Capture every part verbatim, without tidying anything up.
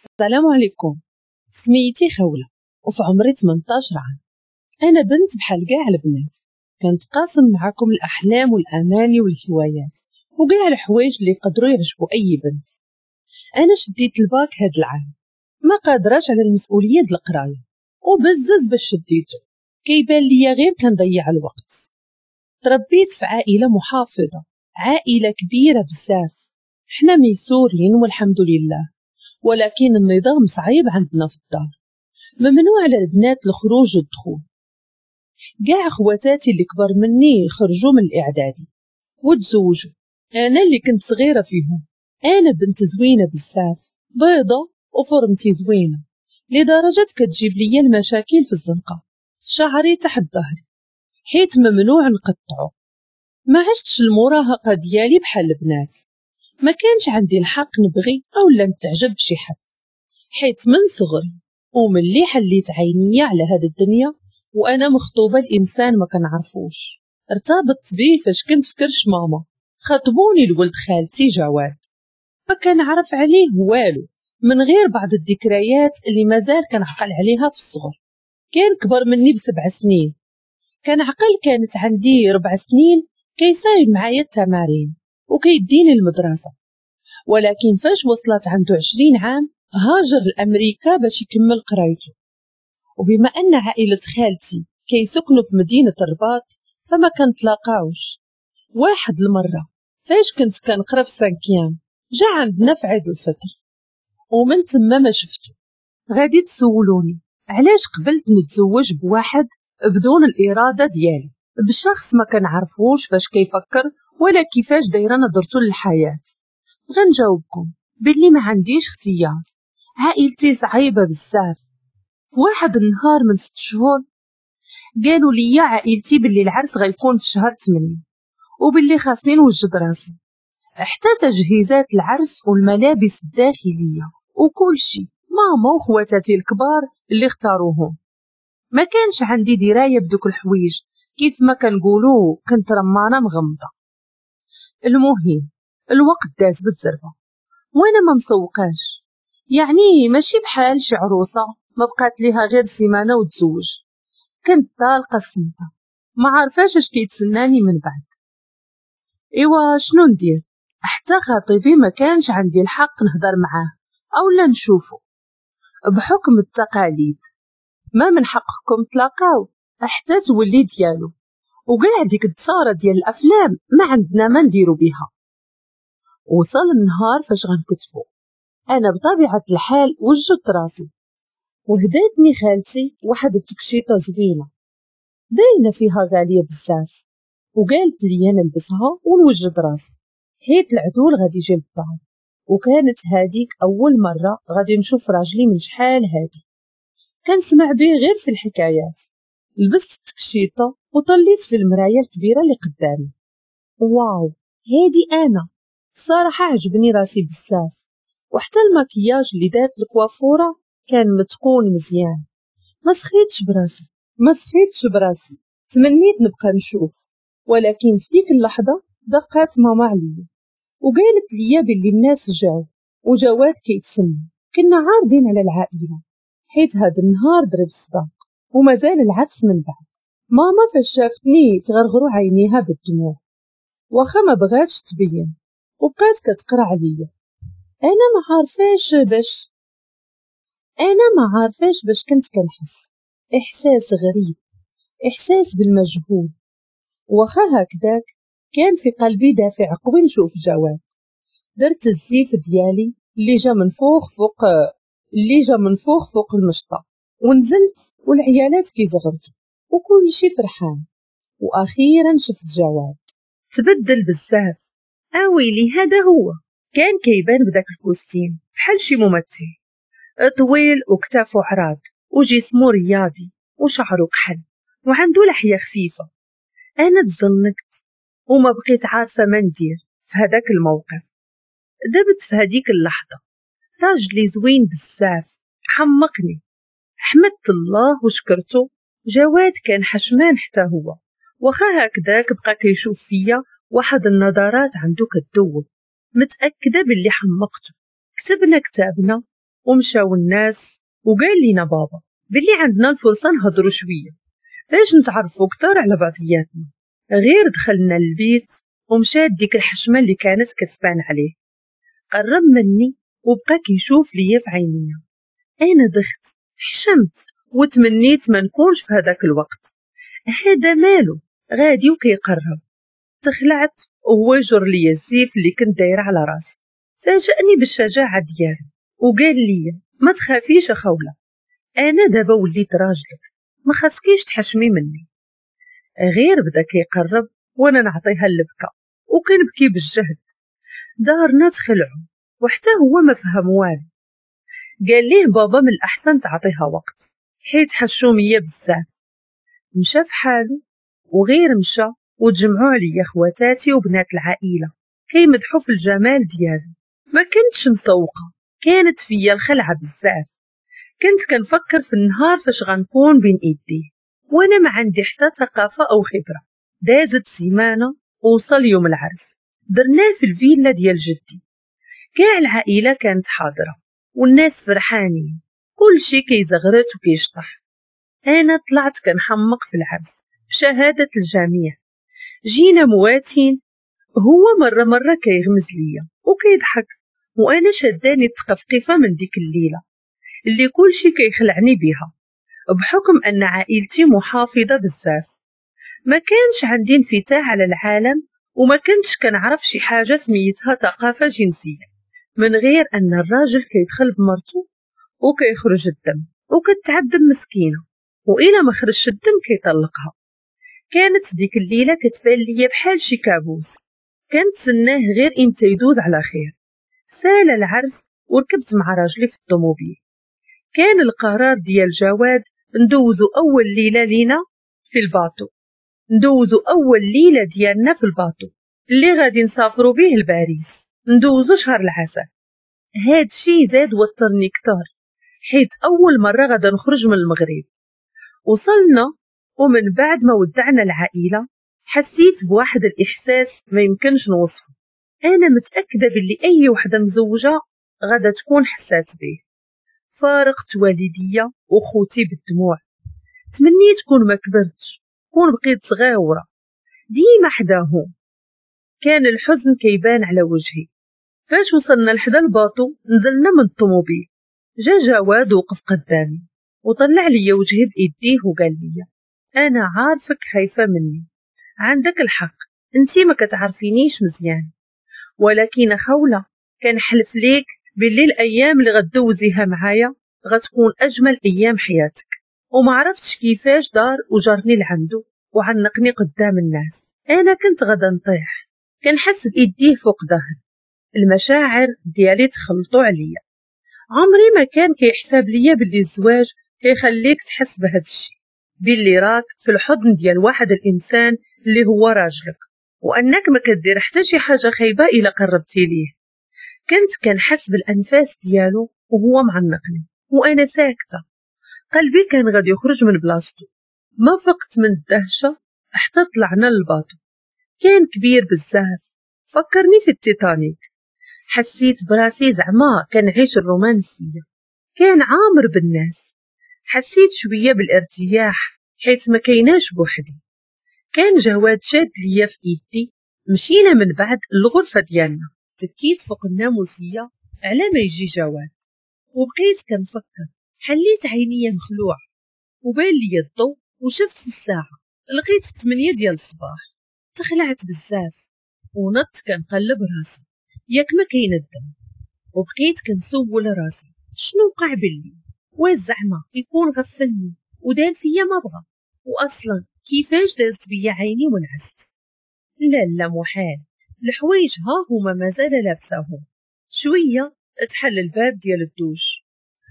السلام عليكم، سميتي خولة وفي عمري ثمانية عشر عام. أنا بنت بحال كاع البنات، كنتقاسم معاكم الأحلام والأماني والهوايات وكاع الحوايج اللي يقدروا يعجبوا أي بنت. أنا شديت الباك هاد العام، ما قادراش على المسؤولية د القراية وبزز باش شديته، كيبان ليا غير كنضيع الوقت. تربيت في عائلة محافظة، عائلة كبيرة بزاف، حنا ميسورين والحمد لله، ولكن النظام صعيب عندنا في الدار، ممنوع على البنات الخروج والدخول. كاع خواتاتي اللي كبر مني خرجوا من الاعدادي وتزوجوا، انا اللي كنت صغيرة فيهم. انا بنت زوينة بزاف، بيضة وفرمتي زوينة لدرجة كتجيب ليا المشاكل في الزنقة. شعري تحت ظهري حيت ممنوع نقطعه. ما عشتش المراهقة ديالي بحال البنات، ما كانش عندي الحق نبغي او لا نتعجب بشي حد، حيت من صغري وملي حليت عينيا على هاد الدنيا وانا مخطوبه لانسان ما كنعرفوش. ارتبطت بيه فاش كنت في كرش ماما، خطبوني لولد خالتي جواد، ما كنعرف عليه والو من غير بعض الذكريات اللي مازال كنعقل عليها في الصغر. كان كبر مني بسبع سنين، كنعقل كانت عندي ربع سنين، كيسايب معايا التمارين وكيديني المدرسة. ولكن فاش وصلت عنده عشرين عام هاجر لأمريكا باش يكمل قرايته. وبما أن عائلة خالتي كيسكنوا في مدينة الرباط فما كنتلاقاوش. واحد المرة فاش كنت كنقرا في cinquième جا عندنا في عيد الفطر، ومن تما ما شفتو. غادي تسولوني علاش قبلت نتزوج بواحد بدون الإرادة ديالي، بشخص ما كنعرفوش فاش كيفكر ولا كيفاش دايرة نظرته للحياة. غنجاوبكم باللي ما عنديش اختيار، عائلتي صعيبة بزاف. في واحد النهار من ست شهور قالوا لي عائلتي باللي العرس غيكون في شهر ثمانية وباللي خاصني نوجد راسي، حتى تجهيزات العرس والملابس الداخلية وكل شيء ماما وخواتاتي الكبار اللي اختاروهم. ما كانش عندي دراية بدوك الحوايج، كيف ما كنقولوا كنت رمانه مغمضه. المهم الوقت داز بالزربه وانا ما مسوقاش، يعني ماشي بحال شي عروسه ما بقات ليها غير سيمانه وتزوج. كنت طالقه السمطه، ما عارفاش اش كيتسناني من بعد. ايوا شنو ندير؟ حتى خطيبي ما كانش عندي الحق نهضر معاه او لا نشوفه بحكم التقاليد. ما من حقكم تلاقاو حتى تولي ديالو، وكاع ديك التصاره ديال الافلام ما عندنا ما نديرو بها. وصل النهار فاش غنكتبو، انا بطبيعة الحال وجدت راسي وهداتني خالتي واحد التكشيطه زوينة باينة فيها غالية بزاف، وقالت لي نلبسها ونوجد راسي حيت العدول غادي يجي للدار. وكانت هاديك اول مرة غادي نشوف راجلي من شحال هادي، كنسمع به غير في الحكايات. لبست التكشيطه وطليت في المراية الكبيرة اللي قدامي. واو هادي انا! الصراحة عجبني راسي بزاف، وحتى المكياج اللي دارت الكوافوره كان متقون مزيان. ما سخيتش براسي ما سخيتش براسي تمنيت نبقى نشوف. ولكن في ديك اللحظة دقات ماما عليا وقالت لي باللي الناس جاو وجواد كيتسنى. كنا عارضين على العائلة حيت هاد النهار ضرب الصداق ومازال العرس من بعد. ماما فاش شافتني تغرغروا عينيها بالدموع، واخا ما بغاتش تبين، وبقات كتقرا عليا. انا ما عارفاش باش انا ما عارفاش باش كنت كنحس احساس غريب، احساس بالمجهول. واخا هكذاك كان في قلبي دافع قوي نشوف جواد. درت الزيف ديالي اللي جا من فوق فوق اللي جا من فوق فوق المشطه، ونزلت والعيالات كيزغرتوا وكل شي فرحان. واخيرا شفت جواد، تبدل بزاف. اويلي هذا هو! كان كيبان بداك ال costume بحال شي ممثل، طويل وكتافو عراض وجسمو رياضي وشعره كحل وعنده لحية خفيفة. انا تزنكت وما بقيت عارفه ما ندير في هذاك الموقف. دبت في هذيك اللحظة. راجلي زوين بزاف، حمقني. حمدت الله وشكرته. جواد كان حشمان حتى هو، واخا هكذاك بقى كيشوف فيا واحد النظرات عنده كتذوب، متاكدة باللي حمقته. كتبنا كتابنا ومشاو الناس، وقال لينا بابا باللي عندنا الفرصة نهضروا شوية باش نتعرفوا اكثر على بعضياتنا. غير دخلنا للبيت ومشات ديك الحشمة اللي كانت كتبان عليه. قرب مني وبقى كيشوف ليا في عينيا. انا دخت، حشمت وتمنيت ما نكونش في هذاك الوقت. هذا مالو غادي وكيقرب. تخلعت وهو يجر ليا الزيف اللي كنت دايرة على راسي. فاجأني بالشجاعه ديالو وقال لي ما تخافيش اخوله، انا دابا وليت راجلك، ما خاصكيش تحشمي مني. غير بدا كيقرب وانا نعطيها اللبكه وكنبكي بالجهد. دارنا تخلعوا وحتى هو ما فهم والو. قال ليه بابا من الاحسن تعطيها وقت حيت حشوميه بزاف. مشى في حاله وغير مشى وتجمعوا عليا خواتاتي وبنات العائلة كيمدحوا في الجمال ديالو. ما كنتش مسوقه، كانت فيا الخلعة بزاف. كنت كنفكر في النهار فاش غنكون بين ايديه وانا ما عندي حتى ثقافة او خبره. دازت سيمانه ووصل يوم العرس. درناه في الفيلا ديال جدي. كاع العائلة كانت حاضره والناس فرحانين، كل شي كيزغرت وكيشطح. انا طلعت كنحمق في العرس بشهادة الجميع. جينا مواتين، هو مرة مرة كيغمز ليا وكيضحك، وانا شداني التقفقفه من ديك الليلة اللي كل شي كيخلعني بها، بحكم ان عائلتي محافظة بزاف. ما كانش عندي انفتاح على العالم وما كنتش كنعرف شي حاجة سميتها ثقافة جنسية، من غير ان الراجل كيدخل بمرته وكيخرج الدم وكتعذب مسكينه، والى ما خرجش الدم كيطلقها. كانت ديك الليلة كتبان ليا بحال شي كابوس، كنتسناه غير امتى يدوز على خير. سال العرس وركبت مع راجلي في الطوموبيل. كان القرار ديال جواد ندوزو اول ليلة لينا في ال bateau، ندوزو اول ليلة ديالنا في ال bateau اللي غادي نسافروا به لباريس، ندوزو شهر العسل. هاد الشي زاد وترني كتر حيت اول مرة غادا نخرج من المغرب. وصلنا ومن بعد ما ودعنا العائلة حسيت بواحد الاحساس ما يمكنش نوصفه. انا متاكدة باللي اي وحده مزوجه غادا تكون حسات به. فارقت والديا وخوتي بالدموع. تمنيت كون ما كبرتش، كون بقيت صغيرة ديما حداهم. كان الحزن كيبان على وجهي. فاش وصلنا لحدا ال bateau نزلنا من الطوموبيل. جا جواد وقف قدامي وطلع لي وجهي بايديه وقال لي انا عارفك خايفة مني، عندك الحق، انتي ما كتعرفينيش مزيان، ولكن خوله كنحلف ليك باللي الايام اللي غدوزيها معايا غتكون اجمل ايام حياتك. وما عرفتش كيفاش دار وجرني لعندو وعنقني قدام الناس. انا كنت غدا نطيح، كنحس بايديه فوق ظهري. المشاعر ديالي تخلطوا عليا. عمري ما كان كيحسب ليا باللي الزواج كيخليك تحس بهذا الشيء، باللي راك في الحضن ديال واحد الانسان اللي هو راجلك، وانك ما كدير حتى شي حاجة خايبة الا قربتي ليه. كنت كنحس بالانفاس ديالو وهو معنقني وانا ساكته. قلبي كان غادي يخرج من بلاصتو. ما فقت من الدهشة حتى طلعنا لل bateau. كان كبير بزاف، فكرني في التيتانيك. حسيت براسي زعما كنعيش الرومانسية. كان عامر بالناس. حسيت شوية بالارتياح حيت ما كايناش بوحدي. كان جواد شاد ليا في ايدي. مشينا من بعد الغرفة ديالنا. تكيت فوق الناموسيه على ما يجي جواد وبقيت كنفكر. حليت عينيا مخلوعه وبان لي الضوء وشفت في الساعة لقيت الثمانية ديال الصباح. تخلعت بزاف ونط كنقلب راسي ياك ما كاين الدم، وبقيت كنسول راسي شنو وقع بالليل، واش زعما يكون غفلني ودار فيا ما بغى، واصلا كيفاش دازت بيا عيني ونعست. لا لا محال، الحوايج ها هما مازال لابساهم. شوية تحل الباب ديال الدوش،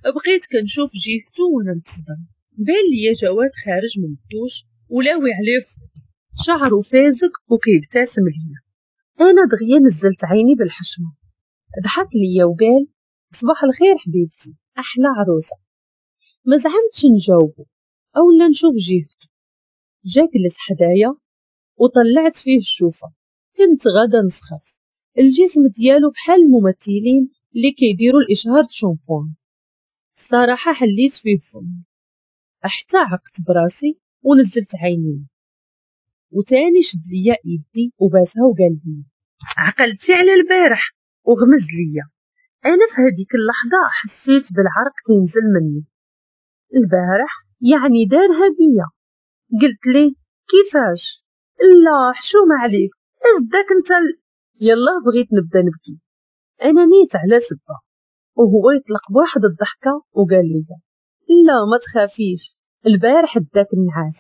بقيت كنشوف جيهتو وانا نتصدم. بان ليا جواد خارج من الدوش ولاوي عليه شعره فازق وكيبتسم ليا. انا دغيا نزلت عيني بالحشمه. ضحك ليا وقال صباح الخير حبيبتي، احلى عروسه. ما زعمتش نجاوبه او لا نشوف جهته. جا جلس حدايا وطلعت فيه الشوفه. كنت غادا نسخف. الجسم ديالو بحال الممثلين اللي كيديروا الاشهار شامبوان. الصراحة حليت فيه فمي حتى عقت براسي ونزلت عيني، وتاني شد ليا ايدي وباسها وقال لي عقلتي على البارح، وغمز ليا. انا في هذيك اللحظة حسيت بالعرق كينزل مني. البارح يعني دارها بيا. قلت ليه كيفاش؟ لا حشومه عليك، اش داك انت ال... يلا بغيت نبدا نبكي. انا نيت على سبه، وهو يطلق بواحد الضحكة وقال لي لا ما تخافيش، البارح داك النعاس،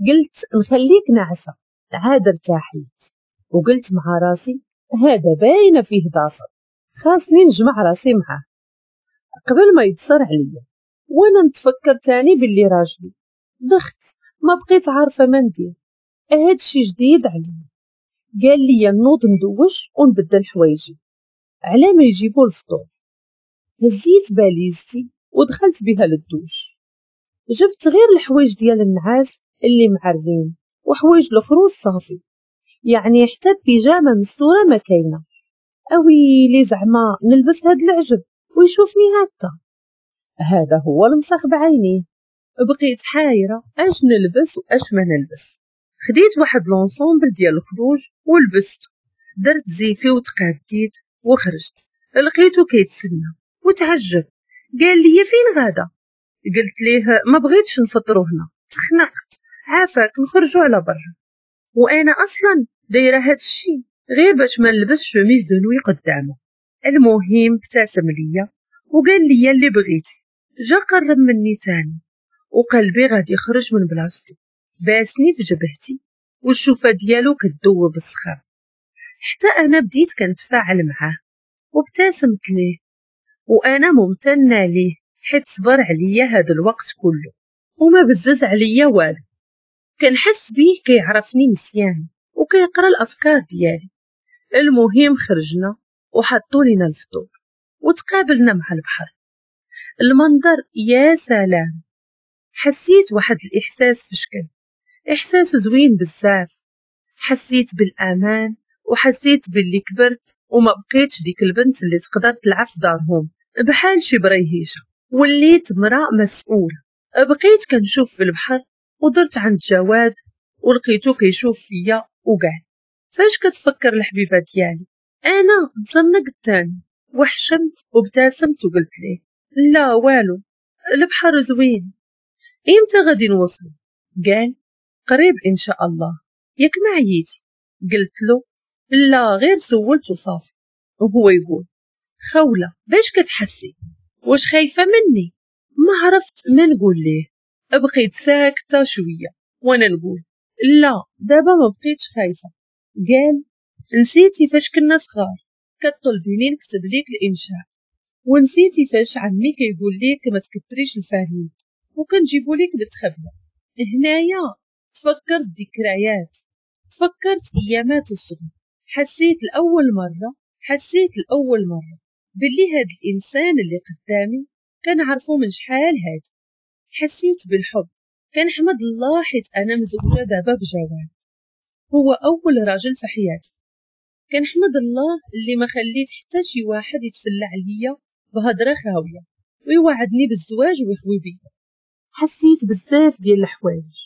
قلت نخليك نعسه عاد ارتاحيت. وقلت مع راسي هذا باينة فيه ضافر، خاصني نجمع راسي معاه قبل ما يتصر عليا. وانا نتفكر تاني باللي راجلي ضغط، ما بقيت عارفه ما ندير، هادشي جديد عليا. قال لي نوض ندوش ونبدل حوايجي على ما يجيبوا الفطور. هزيت باليزتي ودخلت بها للدوش، جبت غير الحوايج ديال النعاس اللي معرين وحوايج الخروج صافي، يعني حتى بيجامه مستورة ما كاينه. اويلي زعما نلبس هاد العجب ويشوفني هكا، هذا هو المسخ بعينيه. بقيت حايره اش نلبس واش ما نلبس. خديت واحد l'ensemble ديال الخروج ولبسته، درت زيفي وتقاديت وخرجت. لقيته كيتسنى وتعجب، قال لي فين غادا؟ قلت ليه ما بغيتش نفطرو هنا، تخنقت، عافاك نخرجوا على برا. وانا اصلا دايرة هاد الشيء غير باش ما نلبس chemise de nuit قدامه. المهم ابتسم ليا وقال لي اللي بغيتي. جا قرب مني تاني وقلبي غادي يخرج من بلاصتو، باسني في جبهتي والشوفه ديالو كتذوب السخاف. حتى انا بديت كنتفاعل معاه وابتسمت ليه، وانا ممتنة ليه حيت صبر عليا هذا الوقت كله وما بزز عليا والو. كنحس بيه كيعرفني مزيان وكيقرا الافكار ديالي. المهم خرجنا وحطوا لنا الفطور وتقابلنا مع البحر. المنظر يا سلام، حسيت واحد الاحساس في شكل، احساس زوين بزاف. حسيت بالامان وحسيت باللي كبرت وما بقيتش ديك البنت اللي تقدر تلعب في دارهم بحال شي بريهيشه، وليت مرأة مسؤولة. بقيت كنشوف في البحر ودرت عند جواد ولقيتو كيشوف فيا وقال فاش كتفكر الحبيبة ديالي؟ انا تزنقت تاني وحشمت وابتسمت وقلت ليه لا والو، البحر زوين، امتى غادي نوصل؟ قال قريب ان شاء الله، ياك ما عييتي؟ قلت له لا غير سولت وصافي. وهو يقول خولة باش كتحسي؟ واش خايفة مني؟ ما عرفت ما نقول ليه، بقيت ساكتة شوية وانا نقول لا دابا ما بقيتش خايفة. قال نسيتي فاش كنا صغار كطلبيني نكتب ليك الانشاء، ونسيتي فاش عمي كيقول ليك ما تكثريش الفهيم وكنجيبو ليك بالتخبيه. هنايا تفكرت ذكريات، تفكرت ايامات الصغر. حسيت الاول مرة حسيت الاول مرة باللي هاد الانسان اللي قدامي كنعرفو من شحال هادي. حسيت بالحب، كنحمد الله حيت انا مزوجه دابا بجواد، هو اول راجل في حياتي. كنحمد الله اللي ما خليت حتى شي واحد يتفلى عليا بهضره خاوية ويوعدني بالزواج ويخوي بيا. حسيت بزاف ديال الحوايج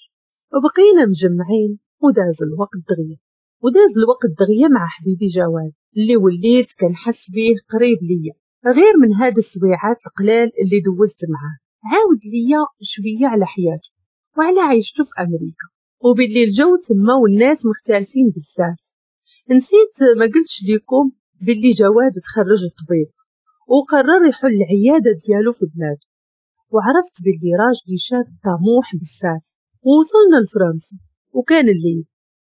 وبقينا مجمعين، وداز الوقت دغيا وداز الوقت دغيا مع حبيبي جواد اللي وليت كنحس بيه قريب ليا. غير من هاد السويعات القلال اللي دوزت معاه عاود ليا شوية على حياته وعلى عيشته في امريكا، وباللي الجو تما والناس مختلفين بزاف. نسيت ما قلتش لكم باللي جواد تخرج الطبيب وقرر يحل العيادة ديالو في بلاده، وعرفت باللي راجلي شاب طموح بزاف. ووصلنا لفرنسا وكان الليل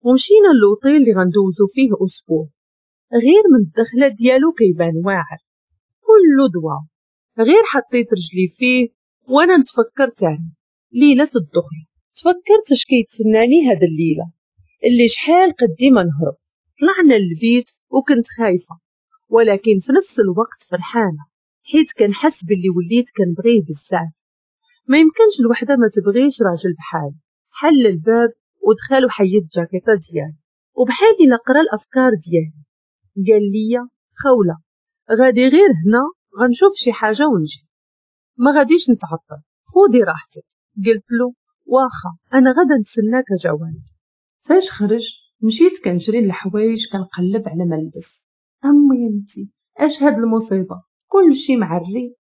ومشينا للوطيل اللي غندوزو فيه اسبوع. غير من الدخلة ديالو كيبان واعر كله دوا، غير حطيت رجلي فيه وانا نتفكر تاني ليلة الدخلة. تفكرت اش كيتسناني هاد الليلة اللي شحال قدي ما نهرب. طلعنا للبيت وكنت خايفة، ولكن في نفس الوقت فرحانة حيت كنحس باللي وليت كنبغيه بزاف. ما يمكنش الوحدة ما تبغيش راجل بحالي. حل الباب ودخل وحيد الجاكيطه ديالي وبحال الا قرا الافكار ديالي. قال لي خولة غادي غير هنا غنشوف شي حاجة ونجي. ما غاديش نتعطل، خودي راحتك. قلت له واخا انا غدا نتسناك جواد. فاش خرج مشيت كنجري للحوايج كنقلب على ما نلبس. امي انتي اش هاد المصيبة، كلشي معري.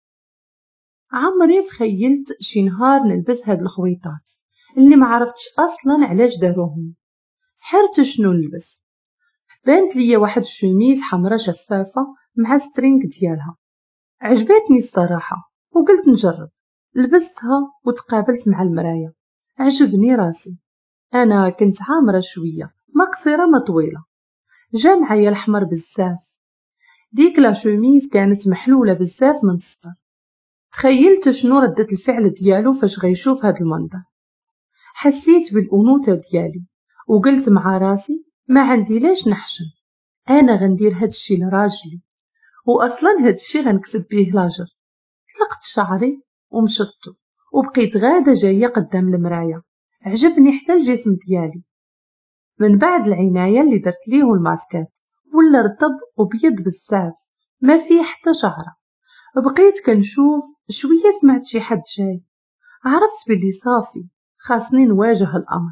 عمري تخيلت شي نهار نلبس هاد الخويطات اللي ما عرفتش اصلا علاش داروهم. حرت شنو نلبس. بانت ليا واحد الشوميز حمراء شفافة مع string ديالها، عجبتني الصراحة وقلت نجرب. لبستها وتقابلت مع المراية، عجبني راسي. انا كنت عامرة شوية، ما قصيرة ما طويلة، جا معايا الاحمر بزاف. ديك la chemise كانت محلولة بزاف من الصدر. تخيلت شنو ردة الفعل ديالو فاش غيشوف هاد المنظر. حسيت بالانوثه ديالي وقلت مع راسي ما عندي لاش نحشم، انا غندير هاد الشي لراجلي، واصلا هاد الشي غنكسب بيه لاجر. طلقت شعري ومشطته وبقيت غاده جاية قدام المراية. عجبني حتى الجسم ديالي من بعد العناية اللي درت ليه والماسكات، ولا رطب وبيض بزاف ما فيه حتى شعره. بقيت كنشوف شوية سمعت شي حد جاي، عرفت بلي صافي خاصني نواجه الامر.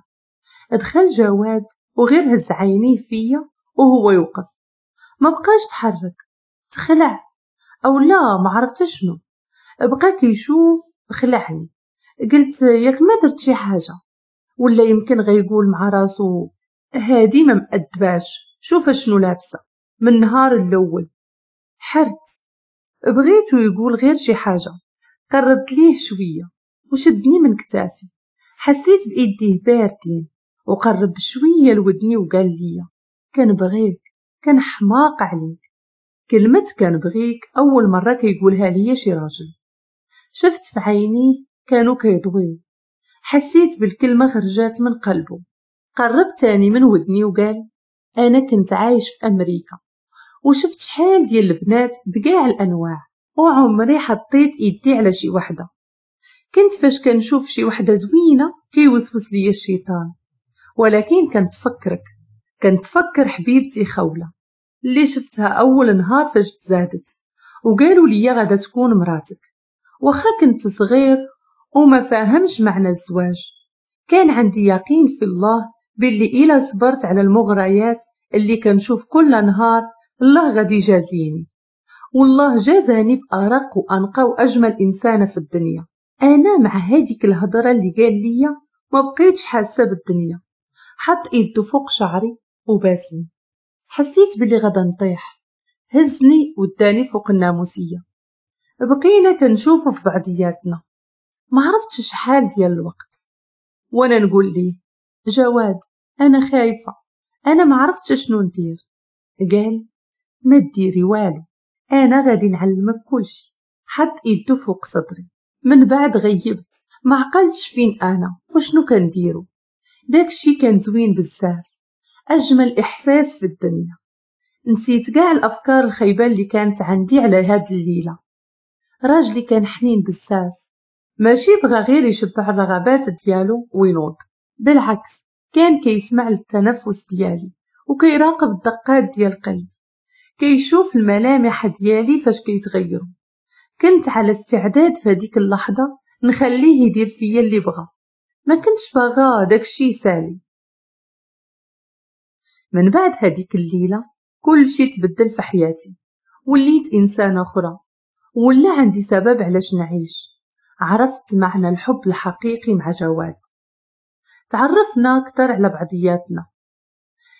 دخل جواد وغير هز عينيه فيا وهو يوقف، ما بقاش تحرك، تخلع او لا ما عرفت شنو. بقى كيشوف خلعني. قلت ياك ما درت شي حاجة، ولا يمكن غيقول مع راسو هادي ما مأدباش، شوف شنو لابسه من النهار الاول. حرت، بغيتو يقول غير شي حاجة. قربت ليه شوية وشدني من كتافي، حسيت بايديه باردين، وقرب شوية لودني وقال لي كنبغيك، كنحماق عليك. كلمة كنبغيك اول مرة كيقولها ليا شي راجل. شفت في عينيه كانوا كيضويو، حسيت بالكلمة خرجات من قلبه. قرب تاني من ودني وقال انا كنت عايش في امريكا وشفت شحال ديال البنات بكاع الانواع، وعمري حطيت ايدي على شي وحده. كنت فاش كنشوف شي وحده زوينة كيوسوس ليا الشيطان، ولكن كنتفكرك، كنتفكر حبيبتي خوله اللي شفتها اول نهار فاش تزادت وقالوا لي غادا تكون مراتك. واخا كنت صغير وما فاهمش معنى الزواج، كان عندي يقين في الله باللي إلا صبرت على المغريات اللي كنشوف كل نهار الله غادي يجازيني. والله جازاني بأرق وأنقى وأجمل إنسانة في الدنيا. أنا مع هذيك الهضرة اللي قال لي ما بقيتش حاسة بالدنيا. حط إيده فوق شعري وباسني، حسيت باللي غادا نطيح. هزني وداني فوق الناموسية، بقينا كنشوفو في بعضياتنا. ما عرفتش شحال ديال الوقت وانا نقول ليه جواد انا خايفة، انا ما عرفتش شنو ندير. قال ما ديري والو، انا غادي نعلمك كلشي. حط ايدو فوق صدري. من بعد غيبت، ما عقلتش فين انا وشنو كنديرو. داكشي كان زوين بزاف، اجمل احساس في الدنيا. نسيت كاع الافكار الخايبة اللي كانت عندي على هاد الليلة. راجلي كان حنين بزاف، ماشي بغى غير يشبع الرغبات ديالو وينوض، بالعكس كان كيسمع للتنفس ديالي وكيراقب الدقات ديال قلبي، كيشوف الملامح ديالي فاش كيتغيروا. كنت على استعداد في هذيك اللحظة نخليه يدير فيا اللي بغى، ما كنتش باغا داكشي يسالي. من بعد هذيك الليلة كل شيء تبدل في حياتي، وليت انسانه اخرى، ولا عندي سبب علاش نعيش. عرفت معنى الحب الحقيقي مع جواد. تعرفنا أكثر على بعضياتنا.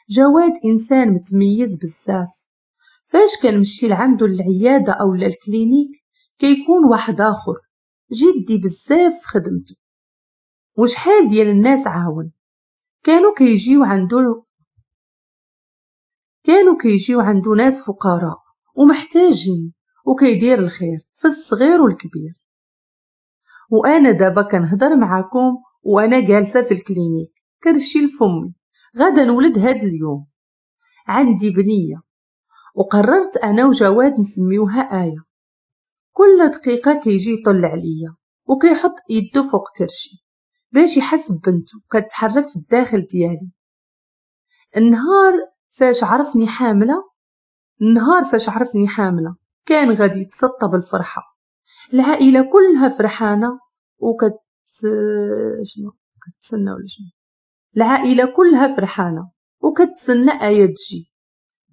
جواد إنسان متميز بزاف. فاش كنمشي لعندو العيادة أو ال clinique كيكون واحد آخر جدي بزاف في خدمته. وشحال ديال الناس عاون كانوا كيجيو عندو كانوا كيجيو عندو ناس فقراء ومحتاجين، وكيدير الخير في الصغير والكبير. وانا دابا كنهضر معاكم وانا جالسة في ال clinique كرشي لفمي، غادا نولد هاد اليوم. عندي بنيه وقررت انا وجواد نسميوها آية. كل دقيقة كيجي يطل عليا وكيحط يده فوق كرشي باش يحس ببنته كتحرك في الداخل ديالي. النهار فاش عرفني حامله النهار فاش عرفني حامله كان غادي يتسطى بالفرحه. العائلة كلها فرحانة وكت شنو كتسنى ولا شنو العائلة كلها فرحانة وكتسنى آية تجي.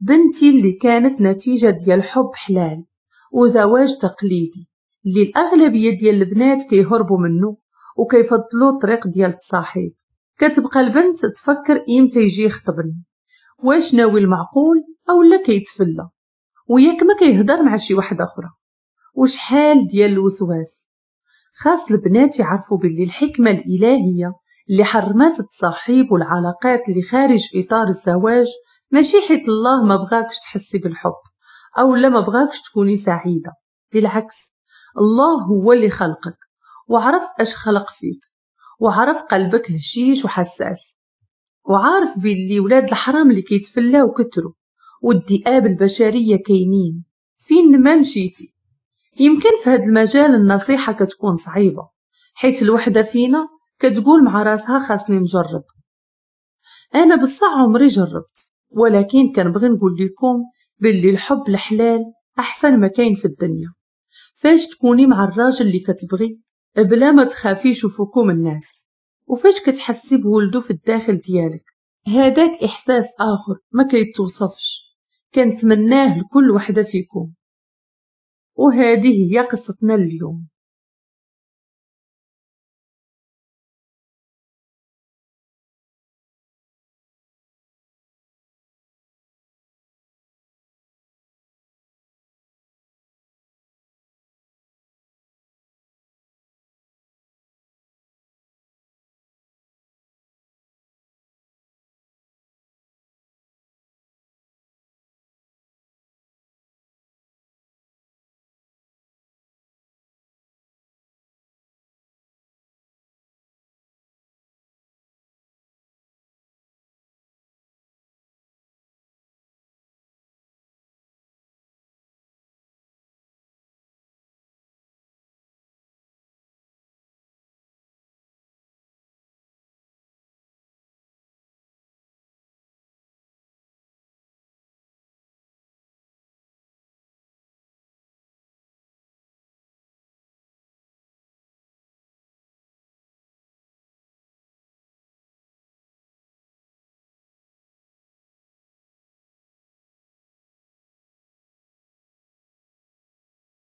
بنتي اللي كانت نتيجة ديال حب حلال وزواج تقليدي اللي الأغلبية ديال البنات كيهربوا منه وكيفضلوا الطريق ديال التصاحيب. كتبقى البنت تفكر امتى يجي يخطبني، واش ناوي المعقول او لا كيتفلى، وياك ما كيهضر مع شي واحدة اخرى، وشحال ديال الوسواس. خاص البنات يعرفوا باللي الحكمة الالهية اللي حرمات التصاحيب والعلاقات اللي خارج اطار الزواج ماشي حيت الله ما بغاكش تحسي بالحب او لا ما بغاكش تكوني سعيدة، بالعكس الله هو اللي خلقك وعرف اش خلق فيك، وعرف قلبك هشيش وحساس، وعارف باللي ولاد الحرام اللي كيتفلاو كتروا والذئاب البشرية كاينين فين ما مشيتي. يمكن في هذا المجال النصيحة كتكون صعيبة، حيت الوحدة فينا كتقول مع راسها خاصني نجرب. انا بصح عمري جربت، ولكن كنبغي نقول لكم باللي الحب الحلال احسن ما كاين في الدنيا. فاش تكوني مع الراجل اللي كتبغي بلا ما تخافي يشوفوكم الناس، وفاش كتحسي بولدو في الداخل ديالك، هذاك احساس اخر ما كيتوصفش، كنتمناه لكل وحده فيكم. وهذه هي قصتنا اليوم.